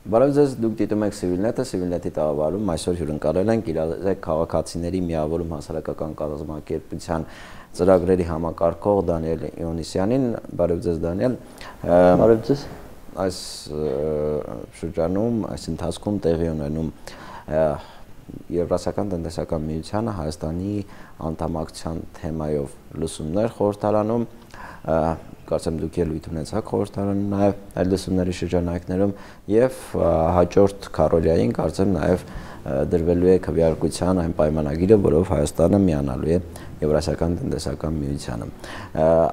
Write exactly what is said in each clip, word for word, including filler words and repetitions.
Բարև ձեզ, դուք դիտում եք Civilnet-ը, Civilnet-ի տաղավարում այսօր հյուրընկալել ենք իրազեկ քաղաքացիների միավորում հասարակական կազմակերպության ծրագրերի համակարգող Դանիել Իոնիսյանին։ Բարև ձեզ Դանիել։ Բարև ձեզ։ Այս շրջանում, այս ընթացքում տեղի ունենում Եվրասիական տնտեսական միությանը Հայաստանի անդամակցության թեմայով լսումներ խորհրդարանում, կարծեմ դուք ելույթ ունեցաք խորհրդարանում նաև այդ լսումների շրջանակներում եւ հաջորդ քառօրյային կարծեմ նաև դրվելու է քվեարկության այն պայմանագիրը, որով Հայաստանը միանալու է Եվրասիական տնտեսական միությանը։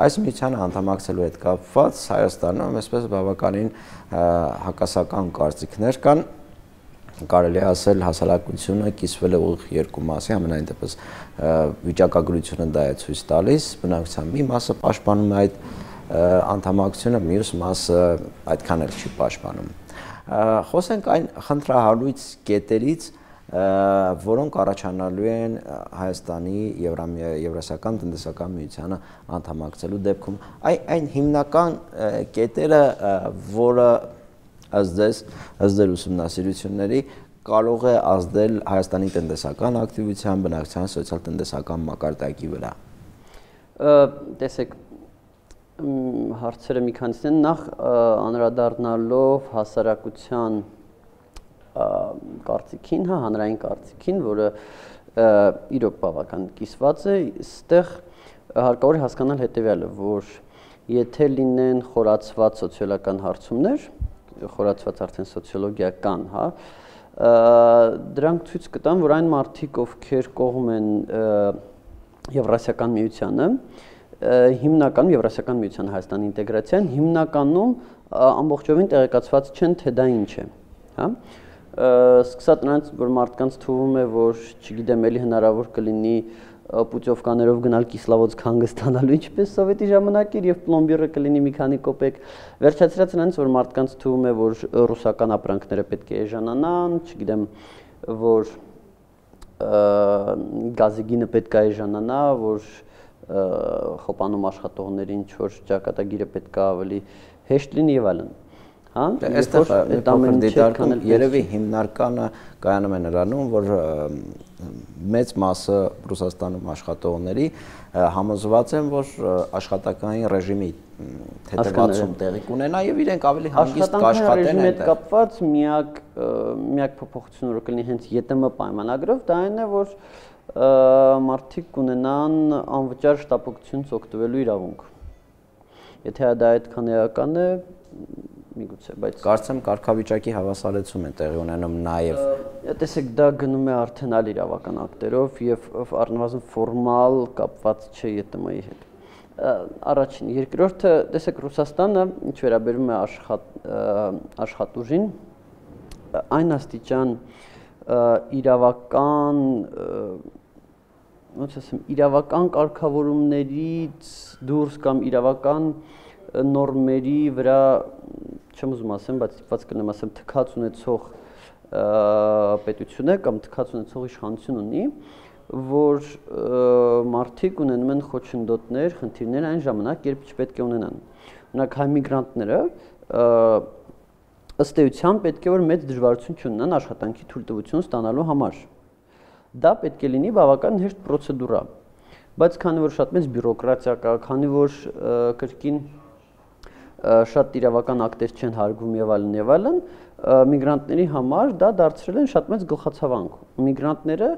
Այս միությանը անդամակցելու հետ կապված Հայաստանում այսպես բավականին հակասական կարծիքներ կան, կարելի է ասել հասարակությունը կիսվել է ուղիղ երկու մասի, ամենայն դեպս վիճակագրությունը դա է ցույց տալիս, բնակչության մի մասը պաշտպանում է այդ անդամակցությունը, մյուս մասը այդքան էլ չի պաշտպանում։ Խոսենք այն խնդրահարույց կետերից, որոնք առաջանալու են Հայաստանի Եվրասիական տնտեսական միությանը անդամակցելու դեպքում։ Այն հիմնական կետերը, որը ըստ ձեզ, ըստ ձեր ուսումնասիրությունների կարող է ազդել Հայաստանի տնտեսական ակտիվության, բնակչության սոցիալ-տնտեսական մակարդակի վրա։ Տեսեք, հարցերը մի քանիսն են, նախ անդրադառնալով հասարակության կարծիքին, հա, հանրային կարծիքին, որը իրոք բավական կիսված է, այստեղ հարկավոր է հասկանալ հետևյալը, որ եթե լինեն խորացված սոցիալական հարցումներ, խորացված արդեն սոցիոլոգիական, հա, դրանք ցույց կտան, որ այն մարդիկ, ովքեր կողմ են Եվրասիական միությանը, հիմնականում Եվրասիական միության Հայաստանի ինտեգրացիան, հիմնականում ամբողջովին տեղեկացված չեն, թե դա ինչ է, հա։ Սկսած նրանց, որ մարդկանց թվում է, որ չգիտեմ, էլի հնարավոր կլինի պուտյովկաներով գնալ Կիսլավոդսկ հանգստանալու, ինչպես սովետի ժամանակ էր, եւ պլոմբիրը կլինի մի քանի կոպեկ, վերջացրած նրանց, որ մարդկանց թվում է, որ ռուսական ապրանքները պետք է էժանանան, չգիտեմ, որ գազի գինը պետք է էժանանա, որ խոպանում աշխատողներին ինչ-որ ճակատագիրը պետք է ավելի հեշտ լինի եւ այլն։ Այստեղ այդ ամեն դիտարկում երևի հիմնարկանը կայանում է նրանում, որ մեծ մասը Ռուսաստանում աշխատողների համոզված են, որ աշխատանքային ռեժիմի թեթևացում տեղի կունենա եւ իրենք ավելի հանգիստ կաշխատեն այդ կապված միակ միակ փոփոխությունը, որ կլինի հենց ԵՏՄ պայմանագրով, դա այն է, որ մարդիկ կունենան անվճար շտապօգնությունից օգտվելու իրավունք։ Եթե դա այդքան էական է, միգուցե, բայց կարծեմ կարգավիճակի հավասարեցում է տեղի ունենում նաև։ Տեսեք, դա գնում է արդեն այլ իրավական ակտերով եւ առնվազն ֆորմալ կապված չէ ԵՏՄ-ի հետ։ Առաջին, երկրորդը, տեսեք, Ռուսաստանը ինչ վերաբերում է աշխատուժին, այն աստիճան իրավական, ոնց ասեմ, իրավական կարգավորումներից դուրս կամ իրավական նորմերի վրա չեմ ուզում ասեմ, բայց ստիպված կլինեմ ասեմ, թքած ունեցող պետություն է կամ թքած ունեցող իշխանություն ունի, որ մարդիկ ունենում են խոչընդոտներ, խնդիրներ այն ժամանակ, երբ չպետք է ունենան։ Օրինակ, հայ միգրանտները ըստ էության պետք է որ մեծ դժվարություն չունենան աշխատանքի թույլտվություն ստանալու համար։ Դա պետք է լինի բավական հեշտ պրոցեդուրա, բայց քանի որ շատ մեծ բյուրոկրատիա կա, քանի որ կրկին շատ իրավական ակտեր չեն հարգվում եւ այլն եւ այլն, միգրանտների համար դա դարձրել են շատ մեծ գլխացավանք։ Միգրանտները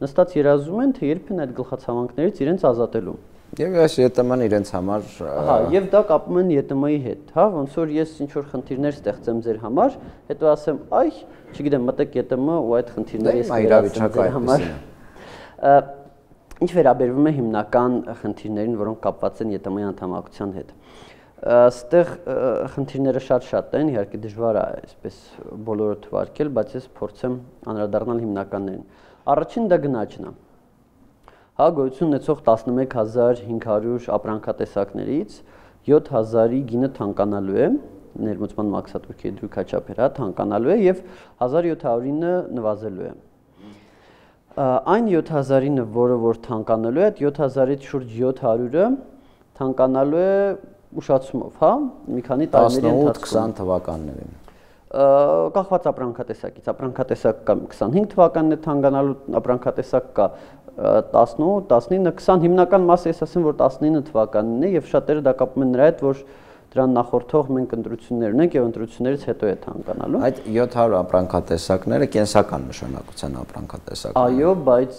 նստած երազում են, թե երբ են այդ գլխացավանքներից իրենց ազատելու։ Եվ այս ԵՏՄ-ն իրենց համար հա, եւ դա կապում են ԵՏՄ-ի հետ, հա, ոնց որ ես ինչ որ խնդիրներ ստեղծեմ ձեր համար, հետո ասեմ, այ, չգիտեմ, մտեք ԵՏՄ ու այդ խնդիրները ես իրավիճակը համար։ Ինչ վերաբերվում է հիմնական խնդիրներին, որոնք կապված են ԵՏՄ-ի անդամակցության հետ։ Այստեղ խնդիրները շատ-շատ են, իհարկե դժվար է այսպես բոլորը թվարկել, բայց ես փորձեմ անդրադառնալ հիմնականներին։ Առաջին դա գնաճն է։ Հա, գոյություն ունեցող տասնմեկ հազար հինգ հարյուր ապրանքատեսակներից յոթ հազարի գինը թանկանալու է, ներմուծման մաքսատուրքի դրույքաչափեր, հա, թանկանալու է եւ հազար յոթ հարյուրինը նվազելու է։ Այն յոթ հազարինը, որը որ թանկանալու է, այդ յոթ հազարից շուրջ յոթ հարյուրը թանկանալու է ուշացումով, հա, մի քանի տարիների տասնութ քսան թվականներին։ կախված ապրանքատեսակից, ապրանքատեսակ կա քսանհինգ թվականն է թանկանալու, ապրանքատեսակ կա տասնութ, տասնինը, քսան հիմնական մասը ես ասեմ, որ տասնինը թվականն է եւ շատերը դա կապում են նրա հետ, որ դրան նախորդող մենք ընտրություններ ունենք եւ ընտրություններից հետո է թանկանալու։ Այդ յոթ հարյուր ապրանքատեսակները կենսական նշանակության ապրանքատեսակներ։ Այո, բայց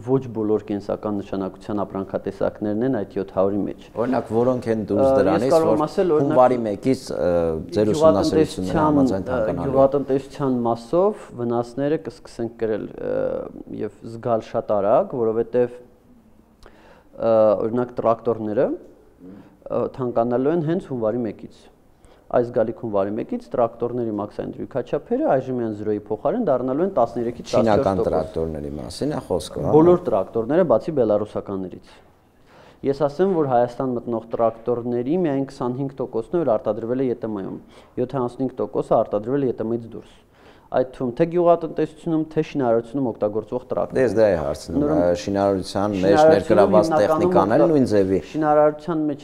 ոչ բոլոր կենսական նշանակության ապրանքատեսակներն են այդ յոթ հարյուրի մեջ։ Օրինակ, որոնք են դուրս դրանից, որ հունվարի մեկից ձեր ուսումնասիրությունները համաձայն թանկանալու։ Գյուղատնտեսության մասով վնասները կսկսեն կրել եւ զգալ շատ արագ, որովհետեւ օրինակ տրակտորները թանկանալու են հենց հունվարի մեկից։ Այս գալիք հունվարի մեկից տրակտորների մաքսային դրույքաչափերը այժմյան զրոյի փոխարեն դառնալու են տասներեքից տասնչորս տոկոս։ Չինական տրակտորների մասին է խոսքը, հա։ Բոլոր տրակտորները բացի բելարուսականներից։ Ես ասեմ, որ Հայաստան մտնող տրակտորների միայն քսանհինգ տոկոսն է, որ արտադրվել է ԵՏՄ-ում, յոթանասունհինգ տոկոսը արտադրվել է ԵՏՄ-ից դուրս։ Այդ թվում թե գյուղատնտեսությունում, թե շինարարությունում օգտագործվող տրակտորներ։ Դες դա է հարցնում, շինարարության մեջ ներգրաված տեխնիկան էլ նույն ձևի։ Շինարարության մեջ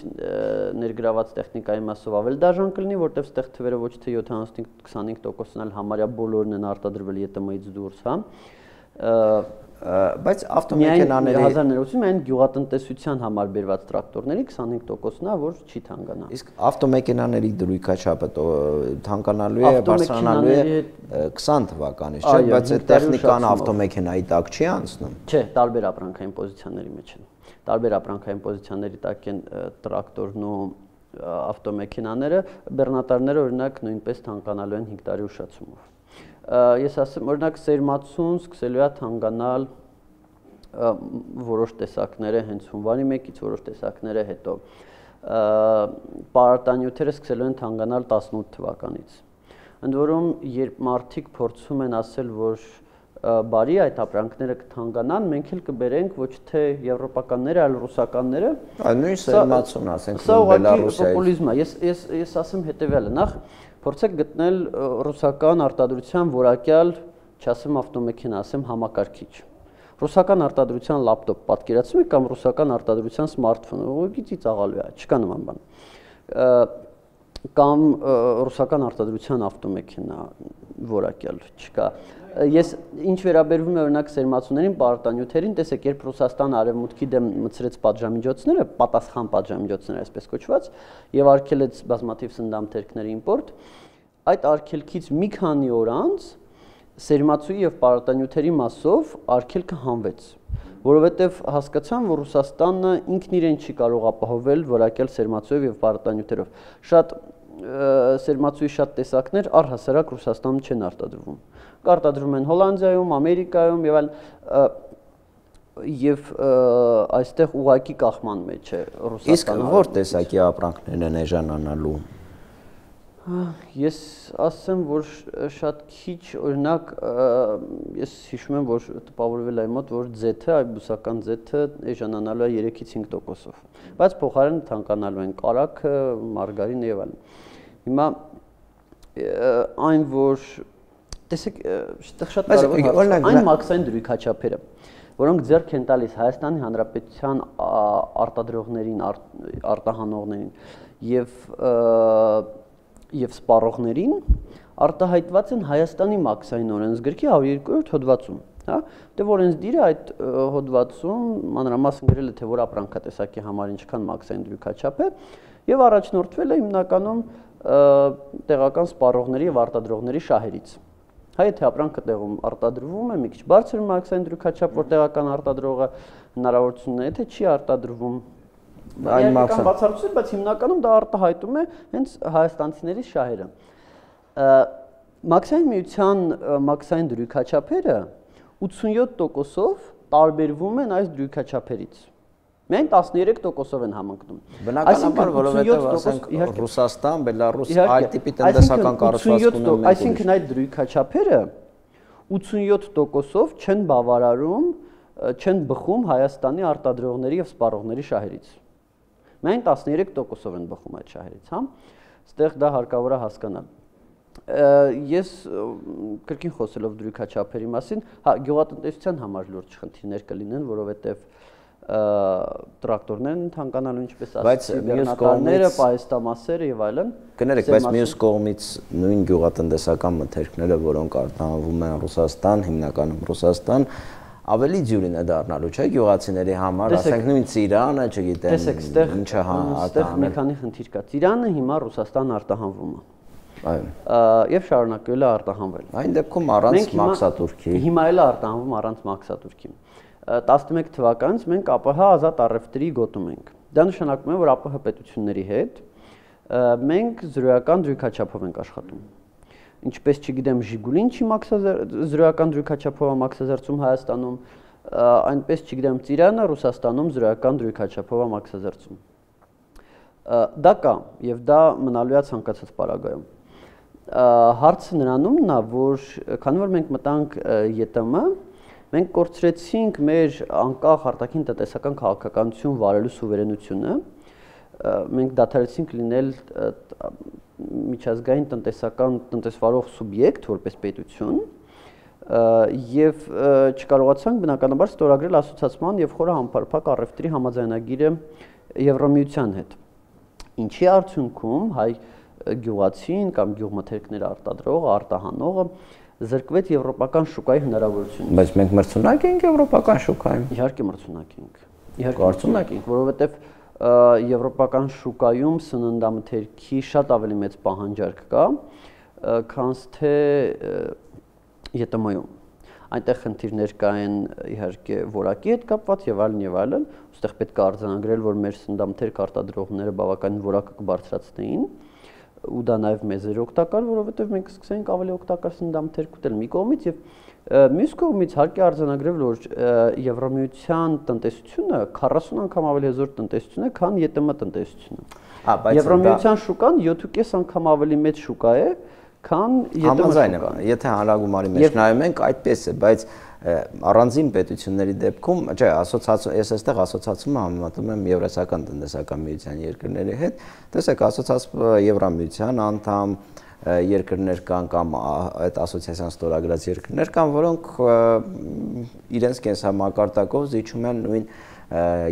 ներգրաված տեխնիկայի մասով ավելի դաժան կլինի, որտեղ ստեղ թվերը ոչ թե յոթանասունհինգ քսանհինգ տոկոսն էլ համարյա բոլորն են արտադրվել ԵՏՄ-ից դուրս, հա։ Բայց ավտոմեքենաների հազար ներողություն, այն գյուղատնտեսության համար բերված տրակտորների քսանհինգ տոկոսն է, որ չի թանկանա։ Իսկ ավտոմեքենաների դրույքաչափը թանկանալու է, բարձրանալու է քսան թվականից, չէ՞, բայց այդ տեխնիկան ավտոմեքենայի տակ չի անցնում։ Չէ, տարբեր ապրանքային պոզիցիաների մեջ են։ Տարբեր ապրանքային պոզիցիաների տակ են տրակտորն ու ավտոմեքենաները, բեռնատարները օրինակ նույնպես թանկանալու են հինգ տարի ուշացումով։ Ես ասեմ, օրինակ սերմացուն սկսելու է թանկանալ որոշ տեսակները հենց հունվարի մեկից, որոշ տեսակները հետո։ Պարարտանյութերը սկսելու են թանկանալ տասնութ թվականից։ Ընդ որում, երբ մարդիկ փորձում են ասել, որ բարի այդ ապրանքները կթանկանան, մենք էլ կբերենք ոչ թե եվրոպականները, այլ ռուսականները։ Այլ նույն սերմացուն, ասենք, Բելարուսիայից։ Սա պոպուլիզմ է։ Ես ես ես ասեմ հետեւյալը, նախ փորձեք գտնել ռուսական արտադրության որակյալ, չասեմ ավտոմեքենա, ասեմ համակարգիչ։ Ռուսական արտադրության լապտոպ պատկերացնում եք կամ ռուսական արտադրության սմարթֆոն, ուղղակի ծիծաղալու է, չկա նման բան։ Կամ ռուսական արտադրության ավտոմեքենա որակյալ չկա։ Ես ինչ վերաբերվում է օրինակ սերմացուներին, պարարտանյութերին, տեսեք, երբ Ռուսաստանը արևմուտքի դեմ մտցրեց պատժամիջոցները, պատասխան պատժամիջոցները այսպես կոչված, եւ արգելեց բազմաթիվ սննդամթերքների իմպորտ, այդ արգելքից մի քանի օր անց սերմացուի եւ պարարտանյութերի մասով արգելքը հանվեց, որովհետեւ հասկացան, որ Ռուսաստանը ինքն իրեն չի կարող ապահովել որակյալ սերմացուով եւ պարարտանյութերով։ Շատ սերմացուի շատ տեսակներ առհասարակ Ռուսաստանում չեն արտադրվում։ Կարտադրում են Հոլանդիայում, Ամերիկայում եւ այլ եւ այստեղ ուղակի կախման մեջ է Ռուսաստանը։ Իսկ որ տեսակի ապրանքներն են էժանանալու։ Ես ասեմ, որ շատ քիչ, օրինակ, ես հիշում եմ, որ տպավորվել է մոտ, որ ձեթը, այ բուսական ձեթը էժանանալու է երեքից հինգ տոկոսով, բայց փոխարեն թանկանալու են կարագը, մարգարինը եւ այլն։ Հիմա այն, որ տեսեք, շատ կարևոր է, այն մաքսային դրույքաչափերը, որոնք ձեռք են տալիս Հայաստանի Հանրապետության արտադրողներին, արտահանողներին եւ եւ սպառողներին արտահայտված են Հայաստանի մաքսային օրենսգրքի հարյուր երկու հոդվածում, հա, դե օրենսդիրը այդ հոդվածում մանրամասն գրել է, թե որ ապրանքատեսակի համար ինչքան մաքսային դրույքաչափ է եւ առաջնորդվել է հիմնականում տեղական սպառողների եւ արտադրողների շահերից։ Հայ եթե ապրանքը տեղում արտադրվում է, մի քիչ բարձր մաքսային դրույքաչափ, որ տեղական արտադրողը հնարավորություն ունի, եթե չի արտադրվում այն մաքսային բացառություն, բայց հիմնականում դա արտահայտում է հենց հայաստանցիների շահերը։ Մաքսային միության մաքսային դրույքաչափերը ութսունյոթ տոկոսով տարբերվում են այս դրույքաչափերից։ Միայն տասներեք տոկոսով են համընկնում։ Բնականաբար, որովհետև ասենք Ռուսաստան, Բելարուս այլ տիպի տնտեսական կառուցվածք ունեն։ Այսինքն այդ դրույքաչափերը ութսունյոթ տոկոսով չեն բավարարում, չեն բխում Հայաստանի արտադրողների եւ սպառողների շահերից։ Միայն տասներեք տոկոսով են բխում այդ շահերից, հա։ Այստեղ դա հարկավոր է հասկանալ։ Ես կրկին խոսելով դրույքաչափերի մասին, հա, գյուղատնտեսության համար լուրջ խնդիրներ կլինեն, որովհետեւ տրակտորներն թանկանալու, ինչպես ասացի, մյուս պահեստամասերը եւ այլն։ Կներեք, բայց մյուս կողմից նույն գյուղատնտեսական մթերքները, որոնք արտահանվում են Ռուսաստան, հիմնականում Ռուսաստան, ավելի դյուրին է դառնալու, չէ՞, գյուղացիների համար, ասենք նույն ծիրանը, չգիտեմ, ինչը այստեղ մի քանի խնդիր կա։ Ծիրանը հիմա Ռուսաստան արտահանվում է։ Այո։ Եվ շարունակել է արտահանվել։ Այն դեպքում առանց մաքսատուրքի։ Հիմա էլ է արտահանվում առանց մաքսատուրքի։ տասնմեկ թվականից մենք ԱՊՀ ազատ առևտրի գոտում ենք։ Դա նշանակում է, որ ԱՊՀ պետությունների հետ մենք զրոյական դրույքաչափով ենք աշխատում։ Ինչպես չգիտեմ, Ժիգուլին չի զրոյական դրույքաչափով է մաքսազերծում Հայաստանում, այնպես չգիտեմ, Ծիրանը Ռուսաստանում զրոյական դրույքաչափով է մաքսազերծում։ Դա կա, եւ դա մնալու է ցանկացած պարագայում։ Հարցը նրանումն է, որ քանի որ մենք մտանք ԵՏՄ, մենք կորցրեցինք մեր անկախ արտաքին տնտեսական քաղաքականություն վարելու սուվերենությունը, մենք դադարեցինք լինել միջազգային տնտեսական տնտեսվարող սուբյեկտ որպես պետություն եւ չկարողացանք բնականաբար ստորագրել ասոցիացիան եւ խորը համապարփակ առևտրի համաձայնագիրը Եվրամիության հետ։ Ինչի արդյունքում հայ գյուղացին կամ գյուղմթերքներ արտադրողը, արտահանողը զրկվեց եվրոպական շուկայի հնարավորությունից։ Բայց մենք մրցունակ ենք եվրոպական շուկայում։ Իհարկե մրցունակ ենք։ Իհարկե մրցունակ ենք, որովհետեւ եվրոպական շուկայում սննդամթերքի շատ ավելի մեծ պահանջարկ կա, քան թե ԵՏՄ-ում։ Այնտեղ խնդիրներ կային իհարկե որակի հետ կապված եւ այլն եւ այլն, ուստեղ պետք է արձանագրել, որ մեր սննդամթերք արտադրողները բավականին որակը կբարձրացնեին, ու դա նաեւ մեզ էր օգտակար, որովհետեւ մենք սկսենք ավելի օգտակար սննդամթերք ուտել մի կողմից եւ մյուս կողմից հարկ է արձանագրել, որ Եվրամիության տնտեսությունը քառասուն անգամ ավելի հզոր տնտեսություն է, քան ԵՏՄ տնտեսությունը։ Եվրամիության շուկան յոթ անգամ ավելի մեծ շուկա է, քան ԵՏՄ շուկան։ Եթե հանրագումարի մեջ նայում ենք, այդպես է, բայց առանձին պետությունների դեպքում, չէ, ասոցիացիա, ես այստեղ ասոցիացումը համեմատում եմ Եվրասիական տնտեսական միության երկրների հետ, տեսեք, ասոցիացիա Եվրամիության անդամ երկրներ կան կամ այդ ասոցիացիան ստորագրած երկրներ կան, որոնք իրենց կենսամակարդակով զիջում են նույն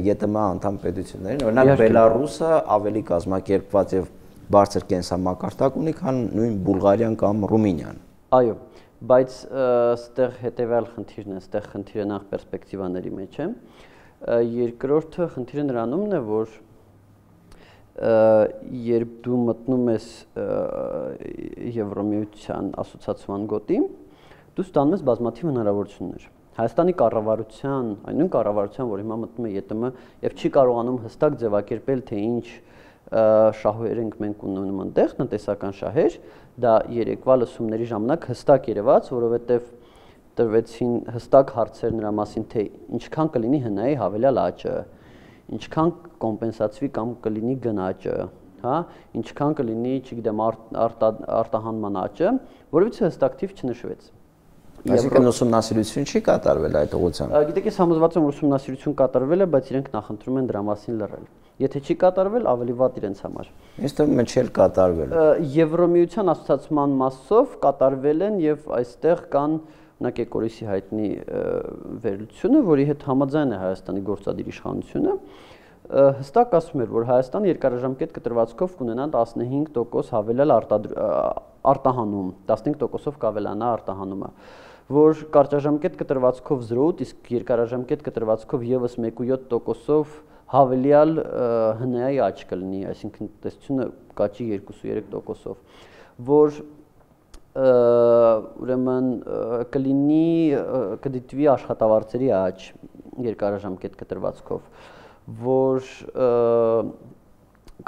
ԵՏՄ անդամ պետություններին, օրինակ Բելարուսը ավելի կազմակերպված եւ բարձր կենսամակարդակ ունի, քան նույն Բուլղարիան կամ Ռումինիան։ Այո, բայց այստեղ հետեւյալ խնդիրն է, այստեղ խնդիրը նախ պերսպեկտիվաների մեջ է։ Երկրորդը խնդիրը նրանումն է, որ երբ դու մտնում ես Եվրամիության ասոցիացիան գոտի, դու ստանում ես բազմաթիվ հնարավորություններ։ Հայաստանի կառավարության, այն նույն կառավարության, որ հիմա մտնում է ԵՏՄ եւ չի կարողանում հստակ ձևակերպել, թե ինչ շահեր ենք մենք ունենում այնտեղ, տնտեսական շահեր, դա երեկվա լսումների ժամանակ հստակ երևաց, որովհետեւ տրվեցին հստակ հարցեր նրա մասին, թե ինչքան կլինի հնայի հավելյալ աճը, ինչքան կոմպենսացվի կամ կլինի գնաճը, հա, ինչքան կլինի, չգիտեմ, արտահանման աճը, որովհետեւ հստակ թիվ չնշվեց։ Այսինքն ուսումնասիրություն չի կատարվել այդ ուղղությամբ։ Գիտեք, ես համոզված եմ, որ ուսումնասիրություն կատարվել է, բայց իրենք նախընտրում են դրա մասին լռել։ Եթե չի կատարվել, ավելի վատ իրենց համար։ Ինձ թվում է չէ կատարվել։ Եվրամիության ասոցիացիան մասով կատարվել են եւ այստեղ կան օրինակ Էկորիսի հայտնի վերլուծությունը, որի հետ համաձայն է Հայաստանի գործադիր իշխանությունը, հստակ ասում էր, որ Հայաստանը երկարաժամկետ կտրվածքով կունենա տասնհինգ տոկոս հավելյալ արտահանում, տասնհինգ տոկոսով կավելանա արտահանումը, որ կարճաժամկետ կտրվածքով զրոյ, իսկ երկարաժամկետ կտրվածքով եւս մեկ կόμμα յոթ տոկոսով հավելյալ հնայի աճ կլինի, այսինքն տնտեսությունը կաճի երկու կόμma երեք տոկոսով, որ ուրեմն կլինի կդիտվի աշխատավարձերի աճ երկարաժամկետ կտրվածքով, որ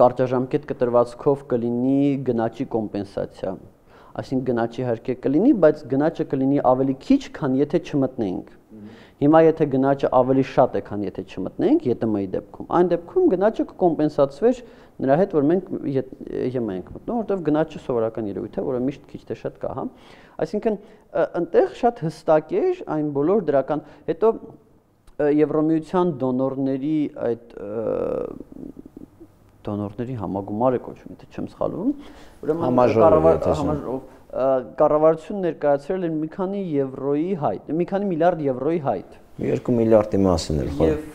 կարճաժամկետ կտրվածքով կլինի գնաճի կոմպենսացիա, այսինքն գնաճի իհարկե կլինի, բայց գնաճը կլինի ավելի քիչ, քան եթե չմտնենք։ Հիմա եթե գնաճը ավելի շատ է, քան եթե չմտնենք ԵՏՄ-ի դեպքում, այն դեպքում գնաճը կկոմպենսացվեր նրա հետ, որ մենք ԵՄ ենք մտնում, որտեղ գնաճը սովորական երևույթ է, որը միշտ քիչ թե շատ կա, հա։ Այսինքն այնտեղ շատ հստակ էր այն բոլոր դրական, հետո Եվրամիության դոնորների այդ դոնորների համագումար է կոչվում, եթե չեմ սխալվում, ուրեմն կառավարությունն ներկայացրել են մի քանի եվրոյի հայտ, մի քանի միլիարդ եվրոյի հայտ։ Երկու միլիարդի մասին էր խոսքը։ Եվ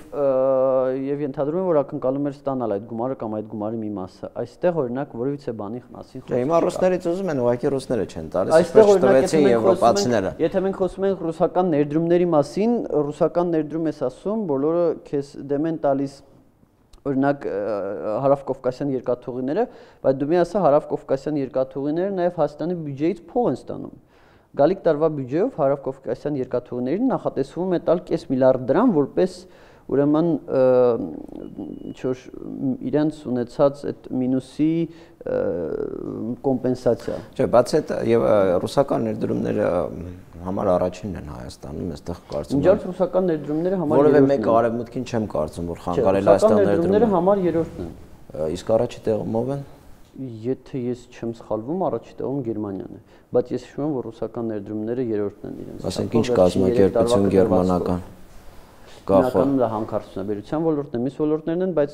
եւ ենթադրում եմ, որ ակնկալում էր ստանալ այդ գումարը կամ այդ գումարի մի մասը։ Այստեղ օրինակ որևիցե բանի մասին խոսքը։ Հիմա ռուսներից ուզում են, ուղղակի ռուսները չեն տալիս, այստեղ տվեցին եվրոպացիները։ Եթե մենք խոսում ենք ռուսական ներդրումների մասին, ռուսական ներդրում ես ասում, բոլորը քեզ դեմ են տալիս օրինակ հարավկովկասյան երկաթուղիները, բայց դու մի ասա հարավկովկասյան երկաթուղիները նաև Հայաստանի բյուջեից փող են ստանում։ Գալիք տարվա բյուջեով հարավկովկասյան երկաթուղիներին նախատեսվում է տալ կես միլիարդ դրամ, որպես ուրեմն ինչ-որ իրենց ունեցած այդ մինուսի կոմպենսացիա։ Չէ, բացի այդ եւ ռուսական ներդրումները համար առաջինն են Հայաստանում, այստեղ կարծում եմ։ Ինչ ռուսական ներդրումները համար որևէ մեկը արևմուտքին չեմ կարծում, որ խանգարել այստեղ ներդրումները համար երրորդն են։ Իսկ առաջի տեղում ով են։ Եթե ես չեմ սխալվում, առաջի տեղում Գերմանիան է, բայց ես հիշում եմ, որ ռուսական ներդրումները երրորդն են իրենց։ Ասենք ինչ կազմակերպություն գերմանական։ Գաղափարում դա հանքարդյունաբերության ոլորտն է, մյուս ոլորտներն են, բայց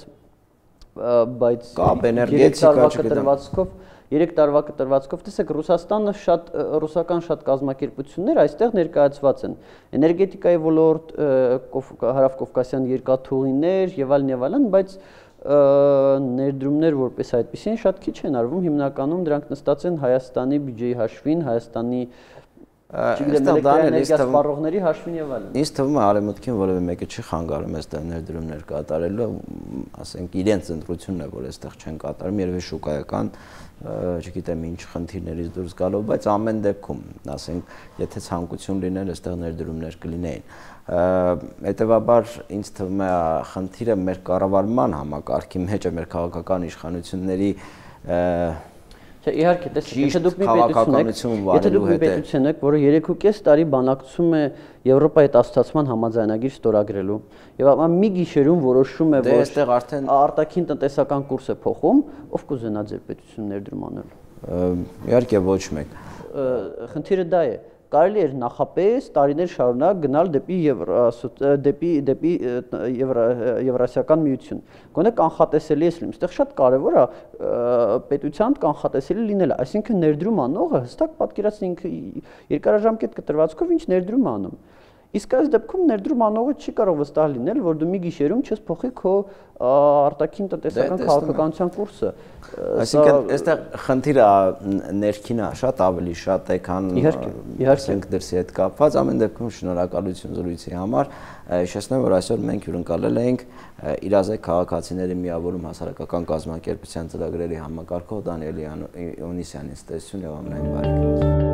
բայց կապ էներգետիկա կտրվածքով երեք տարվա կտրվածքով տեսեք Ռուսաստանը շատ ռուսական շատ կազմակերպություններ այստեղ ներկայացված են էներգետիկայի ոլորտ, հարավկովկասյան երկաթուղիներ եւ այլն եւ այլն, բայց ներդրումներ որպես այդպեսին շատ քիչ են արվում, հիմնականում դրանք նստած են Հայաստանի բյուջեի հաշվին, Հայաստանի սպառողների հաշվին եւ այլն։ Ինձ թվում է արևմուտքին որևէ մեկը չի խանգարում այստեղ ներդրումներ կատարելու, ասենք իրենց ընտրությունն է, որ այստեղ չեն կատարում, երևի շուկայական, չգիտեմ ինչ խնդիրներից դուրս գալով, բայց ամեն դեպքում, ասենք, եթե ցանկություն լիներ, այստեղ ներդրումներ կլինեին։ Հետևաբար ինձ թվում է խնդիրը մեր կառավարման համակարգի մեջ է, մեր քաղաքական իշխանությունների Իհարկե, տեսեք, եթե դուք մի պետություն եք, եթե դուք մի պետություն եք, որը երեք ու կես տարի բանակցում է Եվրոպայի հետ ասոցիացման համաձայնագիր ստորագրելու, եւ ապա մի գիշերում որոշում է, որ այստեղ արդեն արտաքին տնտեսական կուրս է փոխում, ով կուզենա ձեր պետություն ներդրում անել։ Իհարկե ոչ մեկ։ Խնդիրը դա է։ Կարելի էր նախապես տարիներ շարունակ գնալ դեպի դեպի դեպի Եվրասիական միություն։ Գոնե կանխատեսելի է լինում։ Այստեղ շատ կարևոր է պետության կանխատեսելի լինելը, այսինքն ներդրում անողը հստակ պատկերացնի ինքը երկարաժամկետ կտրվածքով ինչ ներդրում անում։ Իսկ այս դեպքում ներդրում անողը չի կարող վստահ լինել, որ դու մի գիշերում չես փոխի քո արտաքին տնտեսական քաղաքականության կուրսը։ Այսինքն այստեղ խնդիրը ներքին է, շատ ավելի շատ է, քան ասենք դրսի հետ կապված։ Ամեն դեպքում շնորհակալություն զրույցի համար։ Հիշեցնեմ, որ այսօր մենք հյուրընկալել էինք իրազեկ քաղաքացիների միավորում հասարակական կազմակերպության ծրագրերի համակարգող Դանիել Իոնիսյանին։ Ստեսություն եւ ամենայն բարիք։